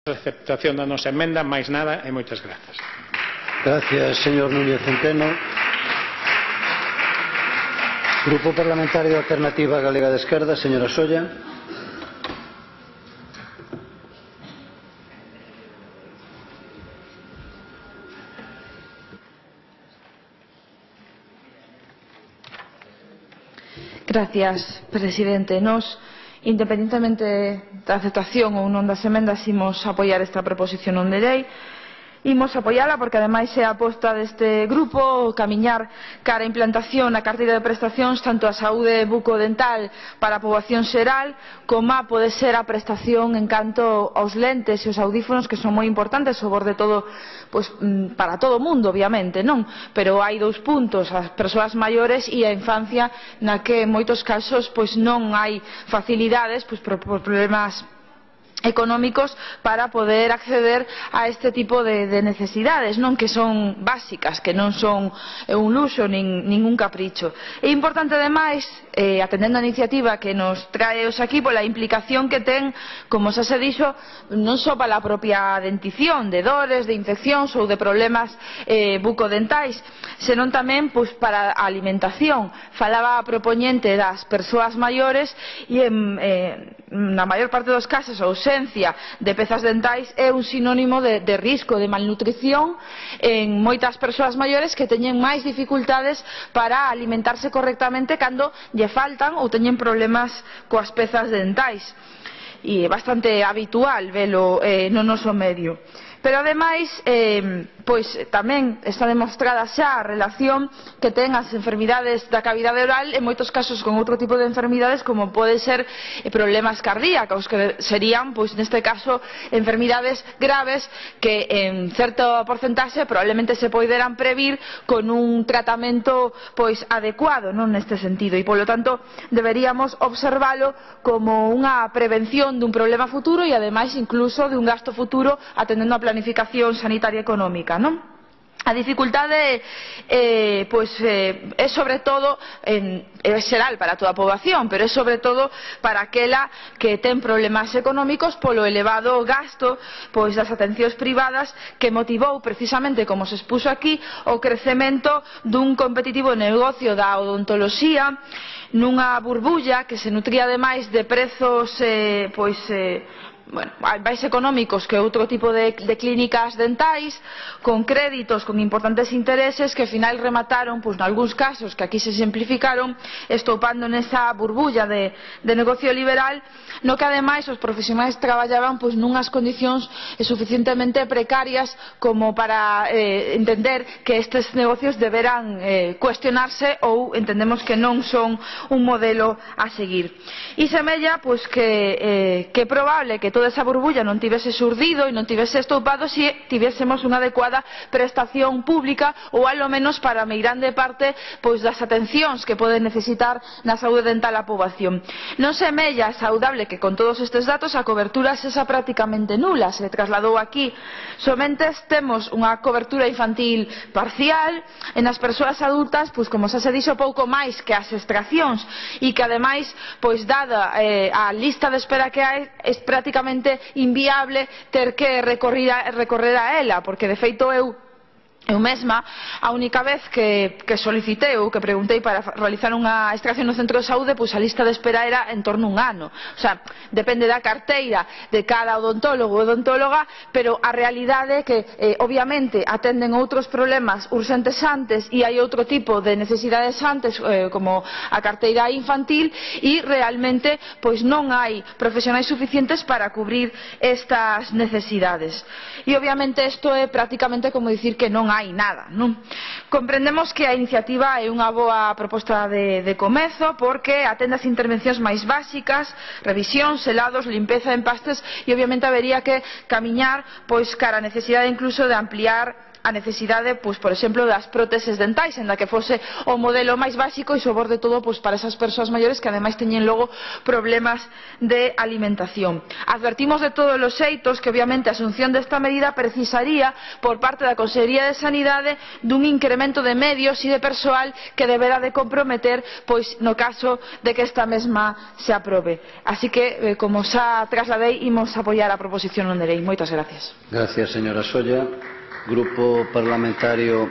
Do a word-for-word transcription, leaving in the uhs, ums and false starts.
a aceptación da nosa emenda, máis nada e moitas grazas. Gracias, señor Núñez Centeno. Grupo Parlamentario de Alternativa Galega de Esquerda, señora Solla. Gracias, presidente. Nos, independentemente da aceptación ou non das emendas, imos apoiar esta proposición non de lei. Imos apoiala porque ademais é a aposta deste grupo camiñar cara a implantación na carteira de prestacións tanto a saúde bucodental para a poboación xeral como a pode ser a prestación en canto aos lentes e os audífonos, que son moi importantes sobre todo pois, para todo o mundo, obviamente, non? Pero hai dous puntos, as persoas maiores e a infancia, na que en moitos casos pois non hai facilidades pois, por, por problemas económicos para poder acceder a este tipo de, de necesidades, non, que son básicas, que non son un luxo nin ningún capricho. É importante ademais, eh, atendendo a iniciativa que nos trae os aquí, pola implicación que ten, como xa se dixo, non só para a propia dentición de dores, de infeccións ou de problemas eh, bucodentais, senón tamén pois, para a alimentación. Falaba a propoñente das persoas maiores e en, eh, na maior parte dos casos a ausencia de pezas dentais é un sinónimo de, de risco de malnutrición en moitas persoas maiores que teñen máis dificultades para alimentarse correctamente cando lle faltan ou teñen problemas coas pezas dentais, e é bastante habitual velo eh, no noso medio. Pero ademais, eh, pois tamén está demostrada xa a relación que ten as enfermidades da cavidade oral en moitos casos con outro tipo de enfermidades como pode ser eh, problemas cardíacos, que serían, pois neste caso, enfermidades graves que en certo porcentaxe probablemente se poideran previr con un tratamento pois adecuado, non neste sentido, e polo tanto deberíamos observalo como unha prevención dun problema futuro e ademais incluso de un gasto futuro atendendo a planificación sanitaria económica, non? A dificultade eh, pois, eh, é sobre todo en, é xeral para toda a poboación, pero é sobre todo para aquela que ten problemas económicos polo elevado gasto pois, das atencións privadas que motivou precisamente, como se expuxo aquí, o crecemento dun competitivo negocio da odontoloxía nunha burbulla que se nutría ademais de prezos eh, pois eh, bueno, máis económicos que outro tipo de, de clínicas dentais, con créditos con importantes intereses que ao final remataron, pois, nalgúns casos que aquí se simplificaron, estoupando nesa burbulla de, de negocio liberal, no que ademais os profesionais traballaban pois, nunhas condicións suficientemente precarias como para eh, entender que estes negocios deberán eh, cuestionarse ou entendemos que non son un modelo a seguir. E semella pois, que, eh, que é probable que toda esa burbulla non tivese surdido e non tivese estoupado se tivésemos unha adecuada prestación pública ou alo menos para a meirande parte pois, das atencións que pode necesitar na saúde dental a poboación. Non semella saudable que con todos estes datos a cobertura sexa prácticamente nula, se trasladou aquí. Somente temos unha cobertura infantil parcial e nas persoas adultas, pois, como xa se dixo, pouco máis que as extraccións e que ademais, pois, dada eh, a lista de espera que hai, é prácticamente inviable ter que recorrer a, recorrer a ela, porque de feito eu Eu mesma, a única vez que, que solicitei ou que preguntei para realizar unha extracción no centro de saúde, pois a lista de espera era en torno a un ano. O sea, depende da carteira de cada odontólogo ou odontóloga, pero a realidade é que, eh, obviamente, atenden outros problemas urxentes antes e hai outro tipo de necesidades antes, eh, como a carteira infantil, e realmente pois non hai profesionais suficientes para cubrir estas necesidades. E, obviamente, isto é prácticamente como dicir que non hai hai nada, non? Comprendemos que a iniciativa é unha boa proposta de, de comezo porque atende as intervencións máis básicas, revisión, selados, limpeza, empastes e obviamente habería que camiñar pois cara a necesidade incluso de ampliar a necesidade, pois, por exemplo, das próteses dentais, en da que fose o modelo máis básico e sobre todo pois, para esas persoas maiores que ademais teñen logo problemas de alimentación. Advertimos de todos os xeitos que obviamente a asunción desta medida precisaría por parte da Consellería de Sanidade dun incremento de medios e de persoal que deberá de comprometer pois no caso de que esta mesma se aprobe. Así que, eh, como xa trasladei, imos apoiar a proposición non de lei. Moitas gracias. Gracias, señora Solla. Grupo Parlamentario